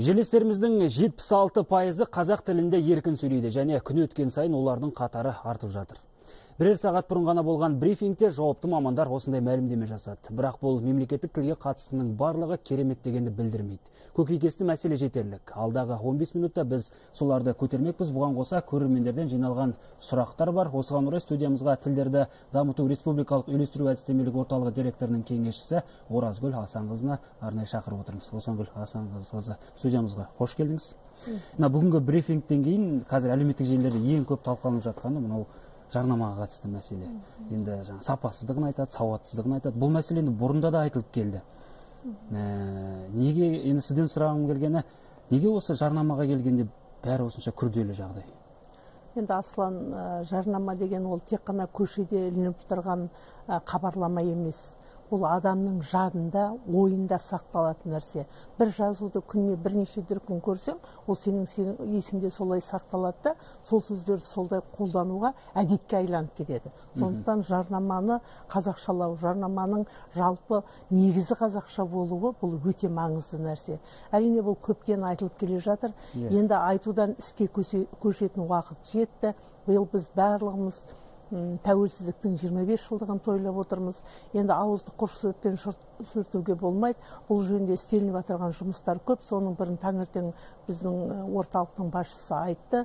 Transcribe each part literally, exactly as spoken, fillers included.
Жерлестеріміздің жетпіс алты пайызы қазақ тілінде еркін сөйлейді, және күн өткен сайын олардың қатары артып жатыр. Бірер сағат бұрын ғана болған брифингте жауапты мамандар осындай мәлімдеме жасады. Бірақ бұл мемлекеттік тілге қатысының барлығы керемет дегенді білдірмейді. Көкейкесті мәселе жетерлік. Алдағы он бес минутта біз соларды көтермекпіз. Бұған қоса көрермендерден жиналған сұрақтар бар. Осыған орай студиямызға тілдерді дамыту республикалық үйлестіру әдістемелік орталығы директорының кеңесшісі Оразгүл Асанқызына арнайы шақырып отырмыз. Оразгүл Асанқызы, студиямызға қош келдіңіз. Бүгінгі брифингтен кейін қазір әлеуметтік желілерде ең көп талқыланып жатқаны мынау жарнамаға қатысты мәселе. Енді сапасыздығын айтады, сауатсыздығын айтады. Бұл мәселе бұрында да айтылып келді. Неге, енді сізден сұрағым келгені, неге осы жарнамаға келгенде бәрі осынша күрделі жағдай? Енді Аслан, жарнама деген ол тек қана көшеде ілініп тұрған хабарлама емес. Ол адамның жадында, ойында сақталатын нәрсе. Бір жазуды күніне бірнеше дүркін көрсең, ол сенің есіңде солай сақталады да, сол сөздерді солай қолдануға әдетке айланып кетеді. Сондықтан жарнаманы қазақшалау, жарнаманың жалпы негізі қазақша болуы бұл өте маңызды нәрсе. Әрине бұл көптен айтылып келе жатыр. Енді айтудан іске көшетін уақыт жетті. Биыл біз барлығымыз тәуелсіздіктің жиырма бес жылдығын тойлап отырмыз. Енді ауызды құрш сөзбен сүртуге болмайды. Бұл жөнінде істелініп отырған жұмыстар көп. Соның бірін таңертең біздің орталықтың басшысы айтты.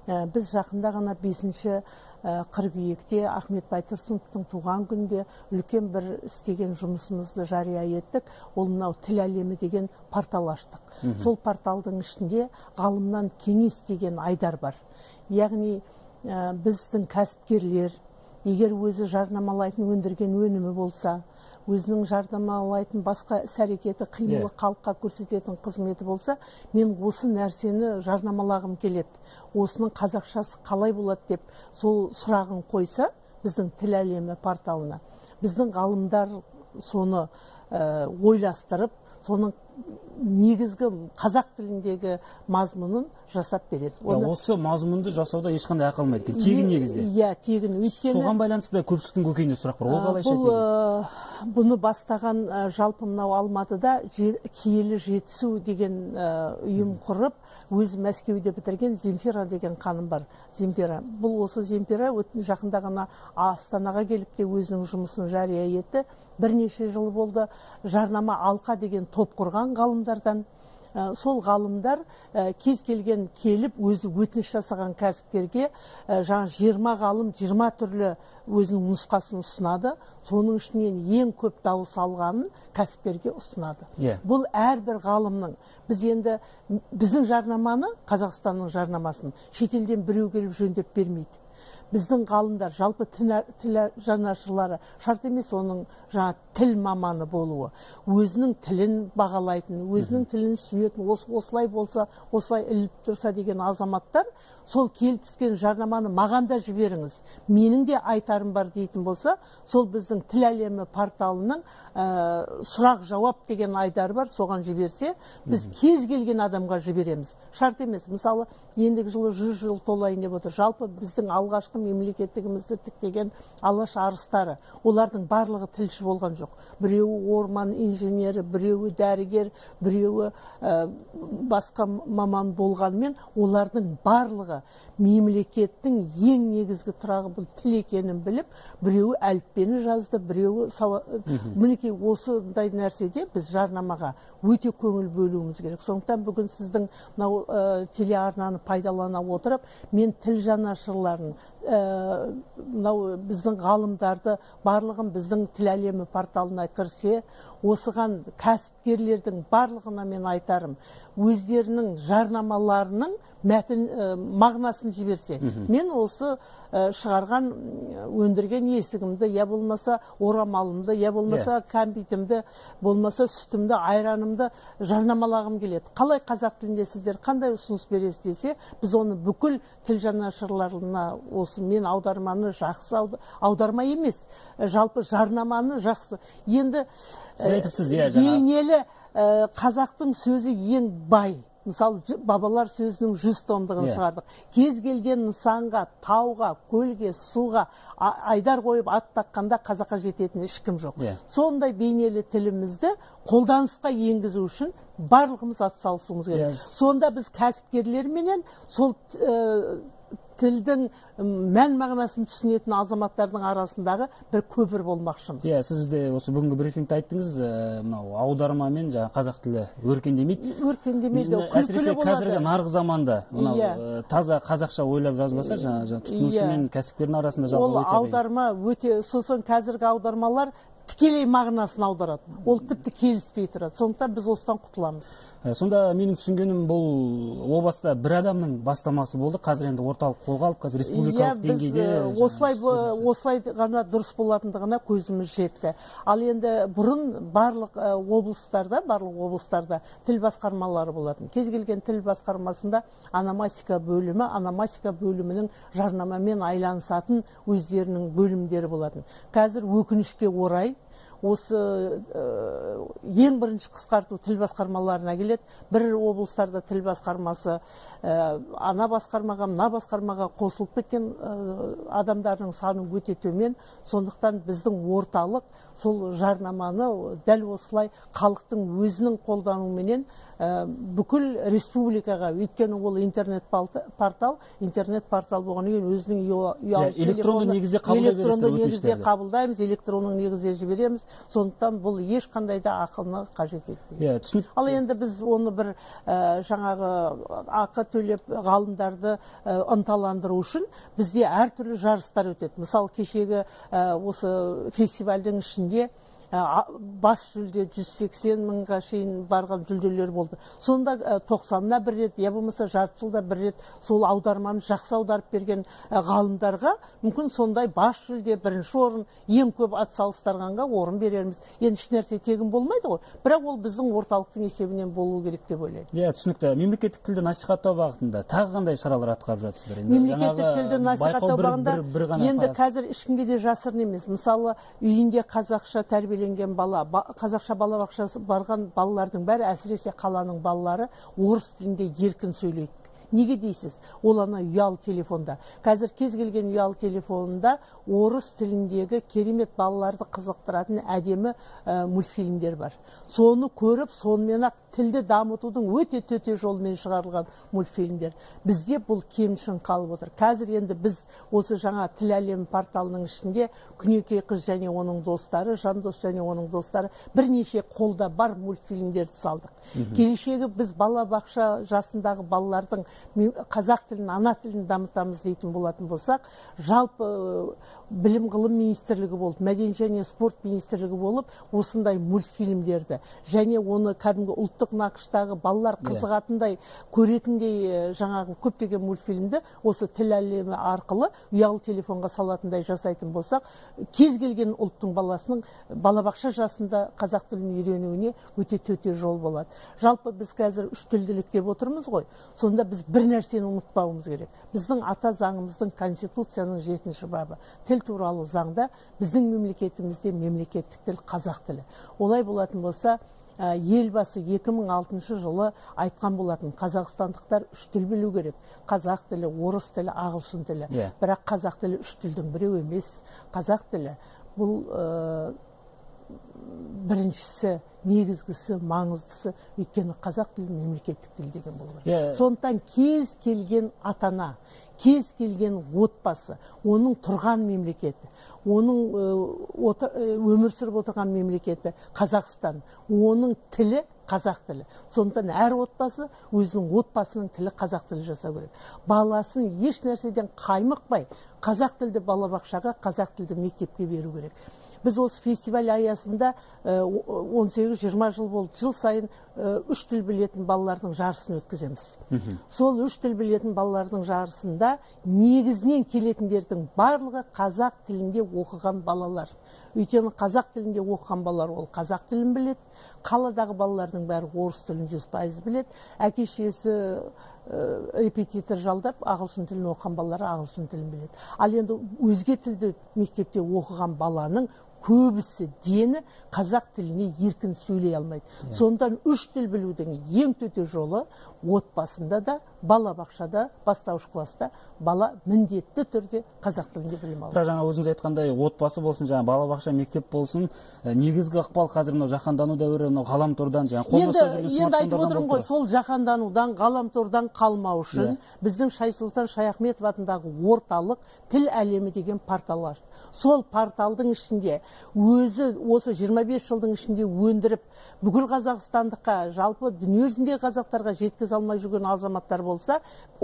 Біз жақында ғана бесінші қыркүйекте Ахмет Байтұрсыновтың туған күнде үлкен бір істеген жұмысымызды жария еттік. Ол мынау тіл әлемі деген портал аштық. Сол порталдың ішінде ғалымнан кеңес деген айдар бар. Яғни біздің кәсіпкерлер, егер өзі жарнамалайтын өндірген өнімі болса, өзінің жарнамалайтын басқа іс-әрекеті, қимылы халыққа көрсететін қызметі болса, мен осы нәрсені жарнамалағым келеді. Осының қазақшасы қалай болады деп сол сұрағын қойса, біздің тіл әлемі порталына, біздің ғалымдар соны ойластырып, соның негізгі қазақ тіліндегі мазмұнын жасап береді. Осы мазмұнды жасауда ешқандай ақылмайды. Тегін негізде. Иә, тегін. Соған байланысты көпшіліктің көкейінде сұрақ бар. Ол қалайша тегін? Бұны бастаған жалпы мынау Алматыда киелі жетісу деген ұйым құрып, өзі Мәскеуде бітірген Земфира деген ханым бар. Земфира. Бұл осы Земфира жақында ғана Астанаға келіп те өзінің жұмысын жария етті. Бірнеше жыл болды. Жарнама алқа деген топ құрған ғалымдардан. Сол ғалымдар кез келген келіп өзі өтініш жасаған кәсіпкерге жаңа жиырма ғалым жиырма түрлі өзінің нұсқасын ұсынады. Соның ішінен ең көп дауыс алғанын кәсіпкерге ұсынады. Бұл әрбір ғалымның, біз енді біздің жарнаманы, Қазақстанның жарнамасын шетелден біреу келіп жөндеп бермейді. Біздің ғалымдар, жалпы тіл жанашырлары, шарт емес оның жаңа тіл маманы болуы, өзінің тілін бағалайтын, өзінің тілін сүйетін, осылай болса, осылай іліп тұрса деген азаматтар, сол келіп түскен жарнаманы маған да жіберіңіз, менің де айтарым бар дейтін болса, сол біздің тіл әлемі порталының сұрақ жауап деген айдары бар, соған жіберсе, біз кез келген адамға жібереміз. Шарт емес, мысалы, ендігі жылы жүз жыл толайын деп отыр. Жалпы біздің алғашқы мемлекеттігімізді тіктеген алаш арыстары, олардың барлығы тілші болған жоқ. Біреуі орман инженері, біреуі дәрігер, біреуі басқа маман болғанмен, олардың барлығы мемлекеттің ең негізгі тұрағы бұл тіл екенін біліп, біреуі әліппені жазды, біреуі мінекей осындай нәрседе біз жарнамаға өте көңіл бөлуіміз керек. Сондықтан бүгін сіздің телеарнаны пайдалана отырып, мен тіл жанашырларын, біздің ғалымдарды барлығын біздің тіл әлемі порталына кірсе, осыған кәсіпкерлердің барлығына мен айтарым, өздерінің жарнамаларының мәтін мағынасын жіберсе, мен осы шығарған өндірген есігімді, я болмаса орамалымды, я болмаса кәмпитімді, болмаса сүтімді, айранымды жарнамалағым келеді. Қалай қазақ тілінде сіздер қандай ұсыныс бересіз десе, біз оны бүкіл тіл жанашырларына осы мен аударманы жақсы, аударма емес, жалпы жарнаманы жақсы. Енді бейнелі қазақтың сөзі ең бай. мысалы бабалар сөзінің жүз томдығын шығардық. Кез келген нысанға, тауға, көлге, суға айдар қойып ат таққанда қазаққа жететін ешкім жоқ. Сондай бейнелі тілімізді қолданысқа енгізу үшін барлығымыз атсалысуымыз керек. Сонда біз кәсіпкерлерменен сол тілдің мән мағынасын түсінетін азаматтардың арасындағы бір көпір болмақшымыз. Иә, сіз де осы бүгінгі брифингте айттыңыз, мынау аудармамен жаңа қазақ тілі өркендемейді. Өркендемейді, күлкілі болады. Қазіргі нарық заманда мынау таза қазақша ойлап жазбаса, жаңа тұтынушы мен кәсіпкердің арасында жалпы ол аударма өте, сосын қазіргі аудармалар тікелей мағынасын аударады. Ол тіпті келіспей тұрады. Сондықтан біз осыдан құтыламыз. Сонда менің түсінгенім бұл о баста бір адамның бастамасы болды. Қазір енді орталық қолға алып, қазір республикалық деңгейде. Осылай осылай ғана дұрыс болатындығына көзіміз жетті. Ал енді бұрын барлық облыстарда, барлық облыстарда тіл басқармалары болатын. Кез келген тіл басқармасында ономастика бөлімі, ономастика бөлімінің жарнамамен айланысатын өздерінің бөлімдері болатын. Қазір өкінішке орай осы ең бірінші қысқарту тіл басқармаларына келеді. Бір облыстарда тіл басқармасы ана басқармаға, мына басқармаға қосылып кеткен адамдардың саны өте төмен. Сондықтан біздің орталық сол жарнаманы дәл осылай халықтың өзінің қолдануыменен бүкіл республикаға, өйткені ол интернет портал, интернет портал болғаннан кейін өзінің ұялы электронды негізде қабылдаймыз, электронның негізде жібереміз. Сондықтан бұл ешқандай да ақылны қажет етпейді. Ал енді біз оны бір жаңағы ақы төлеп ғалымдарды ынталандыру үшін бізде әртүрлі жарыстар өтеді. Мысалы, кешегі осы фестивальдің ішінде бас жүлде жүз сексен мыңға шейін барған жүлделер болды. Сонда тоқсанына бір рет, я болмаса жарты жылда бір рет сол аударманы жақсы аударып берген ғалымдарға мүмкін сондай бас жүлде, бірінші орын, ең көп атсалыстырғанға орын берерміз. Енді ешнәрсе тегін болмайды ғой, бірақ ол біздің орталықтың есебінен болу керек деп ойлаймын. Иә, түсінікті. Мемлекеттік тілді насихаттау бағытында тағы қандай шаралар атқарып жатсыздар? Мемлекеттік тілді насихаттау бағытында енді қазір ешкімге де жасырын емес. Мысалы, үйінде қазақша тәрбиеленген бала, қазақша балабақшасы барған балалардың бәрі, әсіресе қаланың балалары орыс тілінде еркін сөйлейді. Неге дейсіз? Ол ана ұялы телефонда. Қазір кез келген ұялы телефонында орыс тіліндегі керемет балаларды қызықтыратын әдемі мультфильмдер бар. Соны көріп, сонымен ақ тілді дамытудың өте төте жолмен шығарылған мультфильмдер. Бізде бұл кемшін қалып отыр. Қазір енді біз осы жаңа тіл әлемі порталының ішінде Күнекей қыз және оның достары, Жандос және оның достары бірнеше қолда бар мультфильмдерді салдық. Келешегі біз балабақша жасындағы балалардың қазақ тілін, ана тілін дамытамыз дейтін болатын болсақ, жалпы білім ғылым министрлігі болып, мәдениет және спорт министрлігі болып, осындай мультфильмдерді және оны кәдімгі ұлттық нақыштағы балалар қызығатындай, көретіндей жаңағы көптеген мультфильмді осы тіл әлемі арқылы ұялы телефонға салатындай жасайтын болсақ, кез келген ұлттың баласының балабақша жасында қазақ тілін үйренуіне өте төте жол болады. Жалпы біз қазір үш тілділік деп отырмыз ғой. Сонда біз бір нәрсені ұмытпауымыз керек. Біздің ата заңымыздың, Конституцияның жетінші бабы тіл туралы заңда біздің мемлекетімізде мемлекеттік тіл қазақ тілі. Олай болатын болса, елбасы екі мың алтыншы жылы айтқан болатын, қазақстандықтар үш тіл білу керек. Қазақ тілі, орыс тілі, ағылшын тілі. Бірақ қазақ тілі үш тілдің біреу емес. Қазақ тілі бұл біріншісі, негізгісі, маңыздысы, өйткені қазақ тілі мемлекеттік тіл деген болу керек. Сондықтан кез келген атана, кез келген отбасы, оның тұрған мемлекеті, оның өмір сүріп отырған мемлекеті Қазақстан, оның тілі қазақ тілі. Сондықтан әр отбасы өзінің отбасының тілі қазақ тілі жасау керек. Баласын еш нәрседен қаймықпай, қазақ тілді балабақшаға, қазақ тілді мектепке беру керек. Біз осы фестиваль аясында он сегіз жиырма жыл болды, жыл сайын үш тіл білетін балалардың жарысын өткіземіз. Сол үш тіл білетін балалардың жарысында негізінен келетіндердің барлығы қазақ тілінде оқыған балалар. Өйткені қазақ тілінде оқыған балалар ол қазақ тілін біледі, қаладағы балалардың бәрі орыс тілін жүз пайыз біледі, әке-шешесі репетитор жалдап ағылшын тілін оқыған балалары ағылшын тілін біледі. Ал енді өзге тілді мектепте оқыған баланың көбісі дені қазақ тіліне еркін сөйлей алмайды. Сондан үш тіл білудің ең төте жолы отбасында да, балабақшада, бастауыш класста бала міндетті түрде қазақ тілінде білім алады. Бірақ жаңа өзіңіз айтқандай, отбасы болсын, жаңа балабақша, мектеп болсын, негізгі ықпал қазір мынау жаһандану дәуірі, мынау ғаламтордан, жаңа қолымызда жүрген смартфондардан. Енді айтып отырмын ғой, сол жаһанданудан, ғаламтордан қалмау үшін біздің Шайсұлтан Шаяхметов атындағы орталық тіл әлемі деген портал ашты. Сол порталдың ішінде өзі осы жиырма бес жылдың ішінде өндіріп, бүкіл қазақстандыққа, жалпы дүниежүзіндегі қазақтарға жеткізе алмай жүрген азаматтар болса,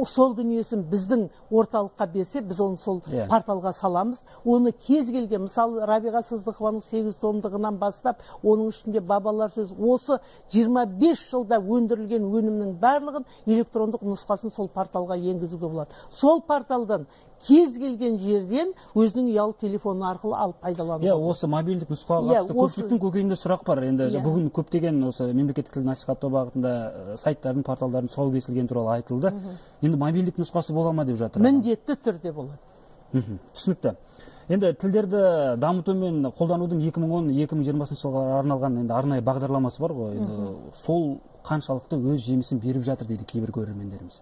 сол дүниесін біздің орталыққа берсе, біз оны сол порталға саламыз. Оны кез келген, мысалы Рабиға Сыздықованың сегіз томдығынан бастап, оның ішінде бабалар сөз, осы жиырма бес жылда өндірілген өнімнің барлығын электрондық нұсқасын сол порталға енгізуге болады. Сол порталдан кез келген жерден өзінің ұялы телефоны арқылы алып пайдалануға. Иә, осы мобильдік нұсқаға қатысты көпшіліктің көкейінде сұрақ бар. Енді бүгін көптеген осы мемлекеттік тілді насихаттау бағытында сайттардың, порталдардың тұсауы кесілгені туралы айтылды. Енді мобильдік нұсқасы бола ма деп жатыр? Міндетті түрде болады. Түсінікті. Енді тілдерді дамыту мен қолданудың екі мың он екі мың жиырмасыншы жылға арналған енді арнайы бағдарламасы бар ғой. Енді сол қаншалықты өз жемісін беріп жатыр дейді кейбір көрермендеріміз.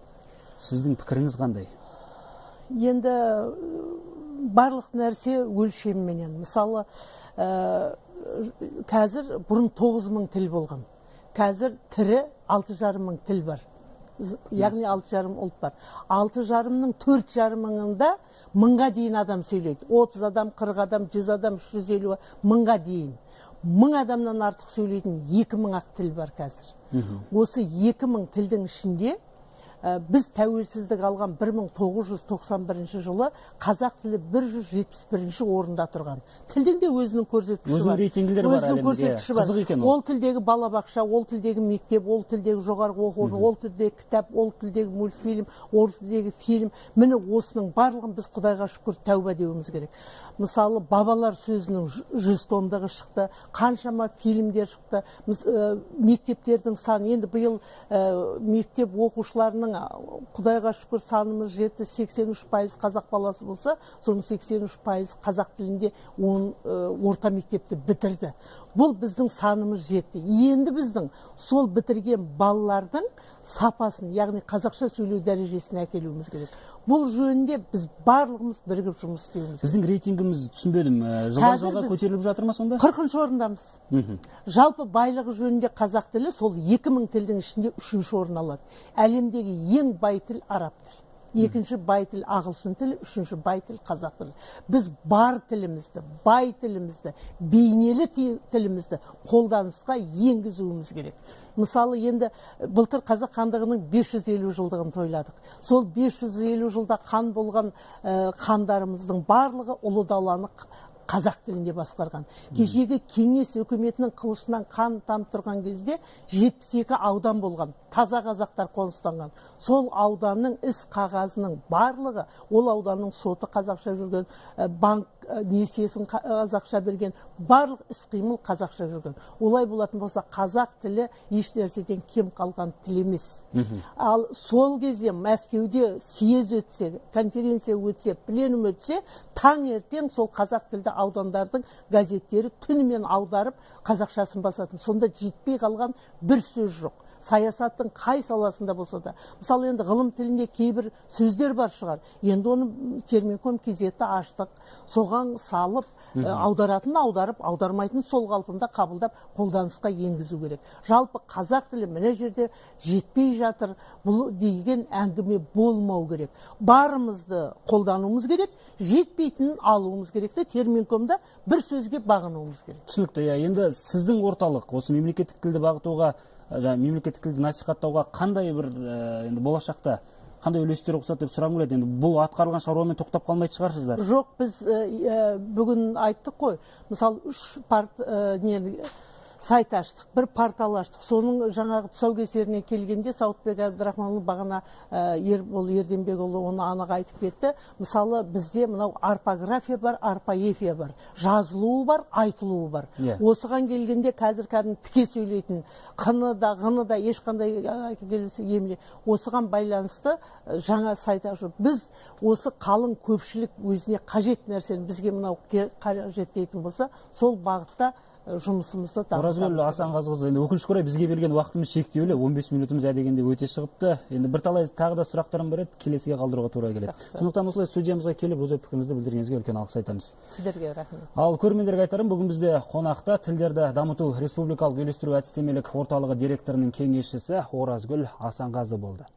Сіздің пікіріңіз қандай? Енді барлық нәрсе өлшемменен. Мысалы, қазір бұрын тоғыз мың тіл болған. Қазір тірі алты жарым мың тіл бар. Яғни алты жарым ұлт бар. алты жарымның төрт жарым мыңында мыңға дейін адам сөйлейді. отыз адам, қырық адам, жүз адам, үш жүз елу мыңға дейін. Мың адамнан артық сөйлейтін екі мың ақ тіл бар қазір. Осы екі мың тілдің ішінде біз тәуелсіздік алған бір мың тоғыз жүз тоқсан бірінші жылы қазақ тілі бір жүз жетпіс бірінші орында тұрған. Тілдің де өзінің көрсеткіші бар. Өзінің рейтингілері бар әлемде. Қызық екен ол. Ол тілдегі балабақша, ол тілдегі мектеп, ол тілдегі жоғарғы оқу орны, ол тілдегі кітап, ол тілдегі мультфильм, ол тілдегі фильм. Міне осының барлығын біз Құдайға шүкір тәуба деуіміз керек. Мысалы, бабалар сөзінің жүз томдығы шықты, қаншама фильмдер шықты, мектептердің саны. Енді биыл мектеп оқушыларының Құдайға шүкір санымыз жетті, сексен үш пайыз қазақ баласы болса, соның сексен үш пайыз қазақ тілінде орта мектепті бітірді. Бұл біздің санымыз жетті. Енді біздің сол бітірген балалардың сапасын, яғни қазақша сөйлеу дәрежесіне әкелуіміз керек. Бұл жөнінде біз барлығымыз бірігіп жұмыс істеуіміз керек. Сіздің рейтингіміз түсінбедім. Жылдан жылға көтеріліп жатыр ма сонда? қырқыншы орындамыз. Жалпы байлығы жөнінде қазақ тілі сол екі мың тілдің ішінде үшінші орын алады. Әлемдегі ең бай тіл араб тілі. Екінші бай тіл ағылшын тілі, үшінші бай тіл қазақ тілі. Біз бар тілімізді, бай тілімізді, бейнелі тілімізді қолданысқа енгізуіміз керек. Мысалы, енді былтыр қазақ хандығының бес жүз елу жылдығын тойладық. Сол бес жүз елу жылда хан болған хандарымыздың барлығы ұлы даланы қазақ тілінде басқарған. Кешегі кеңес өкіметінің қылышынан қан тамып тұрған кезде жетпіс екі аудан болған. Таза қазақтар қоныстанған. Сол ауданның іс қағазының барлығы, ол ауданның соты қазақша жүрген, банк несиесін қазақша берген, барлық іс-қимыл қазақша жүрген. Олай болатын болса, қазақ тілі еш нәрседен кем қалған тіл емес. Ал сол кезде Мәскеуде съез өтсе, конференция өтсе, пленум өтсе, таң ертең сол қазақ тілді аудандардың газеттері түнімен аударып қазақшасын басатын. Сонда жетпей қалған бір сөз жоқ. Саясаттың қай саласында болса да. Мысалы, енді ғылым тілінде кейбір сөздер бар шығар. Енді оны Терминком кезетті аштық. Соған салып, аударатын аударып, аудармайтын сол қалпында қабылдап, қолданысқа енгізу керек. Жалпы қазақ тілі мына жерде жетпей жатыр, бұл деген әңгіме болмау керек. Барымызды қолдануымыз керек, жетпейтінін алуымыз керек те Терминкомда бір сөзге бағынуымыз керек. Түсінікті. Енді сіздің орталық осы мемлекеттік тілді бағытуға, мемлекеттік тілді насихаттауға қандай бір енді болашақта қандай үлестер қосады деп сұрағым келеді. Енді бұл атқарылған шаруамен тоқтап қалмайтын шығарсыздар. Жоқ, біз бүгін айттық қой. Мысалы, үш сайт аштық, бір портал аштық. Соның жаңағы тұсаукесеріне келгенде Сауытбек Абдрахманұлы бағана Ербол Ерденбекұлы оны анық айтып кетті. Мысалы, бізде мынау орфография бар, орфоэпия бар, жазылуы бар, айтылуы бар. Осыған келгенде қазір кәдімгі тіке сөйлейтін, қыны да, ғыны да ешқандай келесі емле. Осыған байланысты жаңа сайт ашу. Біз осы қалың көпшілік өзіне қажет нәрсені бізге мынау қажет дейтін болса, сол бағытта жұмысымызды дамытамыз. Оразгүл Асанғазықызы, енді өкінішке орай бізге берген уақытымыз шектеулі, он бес минутымыз әдегенде өте шығыпты. Енді бірталай тағы да сұрақтарым бар еді, келесіге қалдыруға тура келеді. Сондықтан осылай студиямызға келіп, өз ой пікіріңізді білдіргеніңізге үлкен алғыс айтамыз. Сіздерге рахмет. Ал көрермендерге айтарым, бүгін бізде қонақта тілдерді дамыту республикалық үйлестіру әдістемелік орталығы директорының кеңесшісі Оразгүл Асанғазы болды.